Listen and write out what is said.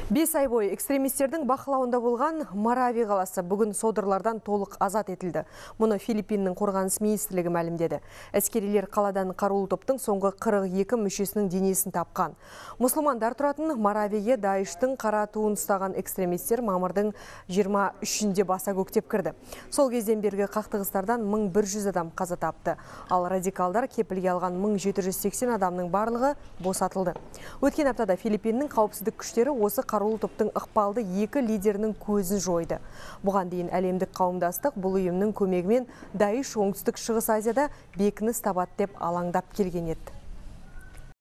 5 ай бойы экстремистердің бақылауында болған Марави қаласы бүгін содырлардан толық азат етілді. Мұны Филиппиннің қорғаныс министрлігі мәлімдеді. Әскерилер қаладан қарулы топтың соңғы 42 мүшесінің денесін тапқан. Мұсылмандар тұратын Маравиге Даиштың қара туын ұстаған экстремистер мамырдың 23-інде баса көктеп кірді. Сол кезден бергі қақтығыстардан 1100 адам қаза тапты. Ал радикалдар кепілге алған 1780 адамның барлығы босатылды. Өткен аптада Филиппиннің қауіпсіздік күштері осы қарулы топтың ықпалды екі лидерінің көзін жойды. Бұған дейін әлемдік қауымдастық бұл ұйымның көмегімен Даиш оңтүстік шығыс Азияда бекініс табады деп алаңдап келген еді.